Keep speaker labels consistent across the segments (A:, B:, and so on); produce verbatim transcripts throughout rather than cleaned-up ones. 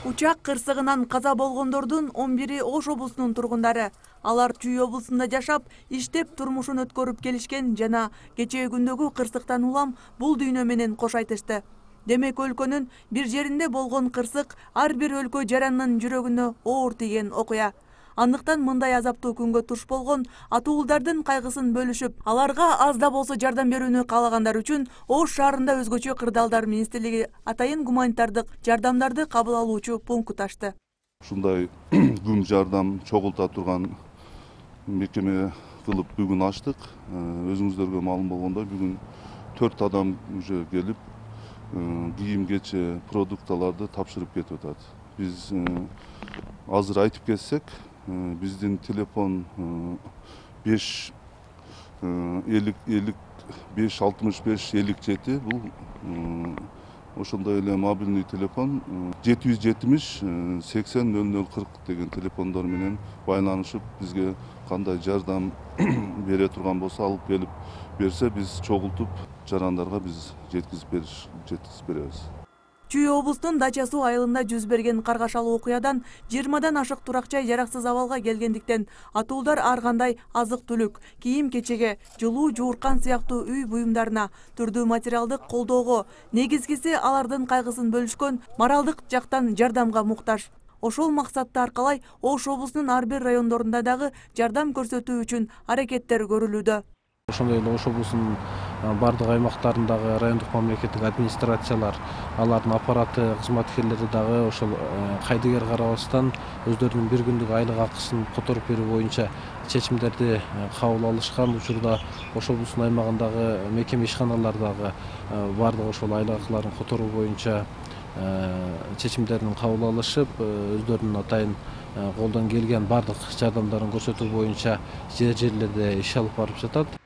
A: Учак кырсыгынан каза болгондордун он бири Ош облусунун тургундары. Алар Чүй облусунда жашап, иштеп турмушун өткөрүп келишкен жана кечээ күндөгү кырсыктан улам бул дүйнө менен кош айтышты. Демек өлкөнүн бир жеринде болгон кырсык ар бир өлкө жаранынын жүрөгүнө оор тийген окуя. Андыктан мындай азаптуу күнгө туш болгон атуулдардын кайгысын бөлүшүп, аларга аз да болсо жардам берүүнү каалагандар үчүн Ош шаарында өзгөчө кырдаалдар министрлиги атайын гуманитардык жардамдарды кабыл алуучу пункт ачты.
B: Ушундай күн жардам чогулта турган мекеме кылып бүгүн ачтык. Өзүңүздөргө маалым болгондой, бүгүн төрт адам уже келип кийим кече продукталарды тапшырып кетип атат. Биз азыр айтып кетсек, биздин телефон беш элүү элүү беш алтымыш беш элүү жети, бул ошондой эле мобилный телефон жети жүз жетимиш сексен нөл нөл кырк деген телефондор менен байланышып, бизге кандай жардам бере турган болсо алып келип берсе, биз чогултуп жарандарга биз жеткизип бериш жеткизип беребиз.
A: Чүй облусунун Дача суу айылында жүз берген каргашалуу окуядан жыйырмадан ашык турак жай жараксыз абалга келгендиктен атуулдар ар кандай азык-түлүк, кийим-кечеге, жылуу жууркан сыяктуу үй буюмдарына, түрдүү материалдык колдоого, негизгиси алардын кайгысын бөлүшкөн моралдык жактан жардамга муктаж. Ошол максатты аркалай Ош облусунун ар бир райондорунда дагы жардам көрсөтүү үчүн аракеттер көрүлүүдө.
C: Ошондой эле Ош облусунун бардык аймактарындагы райондук мамлекеттик администрациялар, алардын аппараты кызматкерлери дагы ошол кайдыгер карабастан өздөрүнүн бир күндүк айлык акысын которуп берүү боюнча чечимдерди кабыл алышкан. Учурда Ош облусунун аймагындагы мекеме ишканалар дагы бардык ошол айлык акыларын которуу боюнча чечимдерин кабыл алышып, өздөрүнүн атайын колдон келген бардык жардамдарын көрсөтүү боюнча жер жерлерде иш алып барып жатат.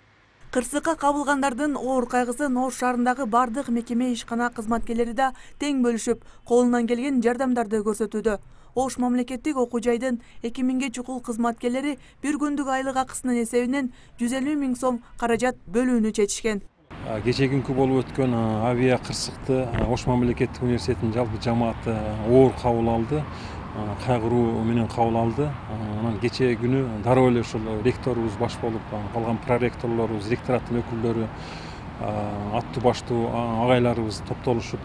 A: Кырсыкка кабылгандардын оор кайгысын Ош шаарындагы бардык мекеме ишкана кызматкерлери да тең бөлүшүп, колунан келген жардамдарды көрсөтүүдө. Ош мамлекеттик окуу жайдын эки миңге чукул кызматкерлери бир күндүк айлык акысынын эсебинен жүз элүү миң сом каражат бөлүүнү чечишкен.
D: Кечээ күнкү болуп өткөн авиа кырсыкты Ош мамлекеттик университетинин жалпы жамааты оор кабыл алды, кайгыруу менен кабыл алды. Анан кечээ күнү дароо эле ушул ректорубуз баш болуп, калган проректорлорубуз, ректораттын өкүлдөрү, аттуу баштуу агайларыбыз топтолушуп,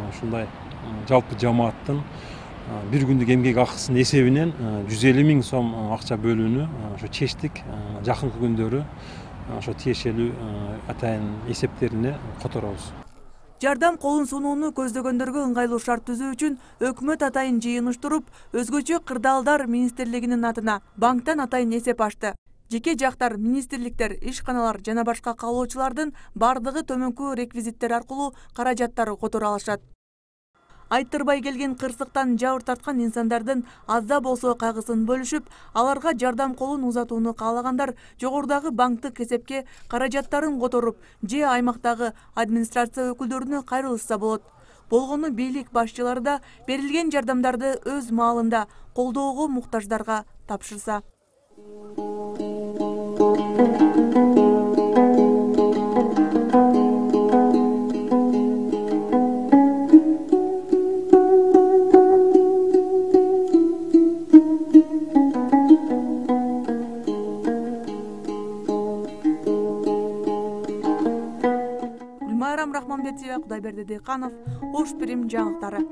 D: ушундай жалпы жамааттын бир күндүк эмгек акысынын эсебинен жүз элүү миң сом акча бөлүүнү ошо чечтик. Жакынкы күндөрү ошо тиешелүү атайын эсептерине которобуз.
A: Жардам колун сунууну көздөгөндөргө ыңгайлуу шарт түзүү үчүн өкмөт атайын жыйын уштуруп, өзгөчө кырдаалдар министрлигинин атына банктан атайын эсеп ачты. Жеке жактар, министрликтер, ишканалар жана башка каалоочулардын бардыгы төмөнкү реквизиттер аркылуу каражаттар которо алышат. Айттырбай келген кырсыктан жабыр тарткан инсандардын аз да болсо кайгысын бөлүшүп, аларга жардам колун узатууну каалагандар жогорудагы банктык эсепке каражаттарын которуп, же аймактагы администрация өкүлдөрүнө кайрылышса болот. Болгону бийлик башчылары да берилген жардамдарды өз маалында колдоого муктаждарга тапшырса. Рахманбетова, Кудайберди Дыйканов, Ош Прим жаңылыктары.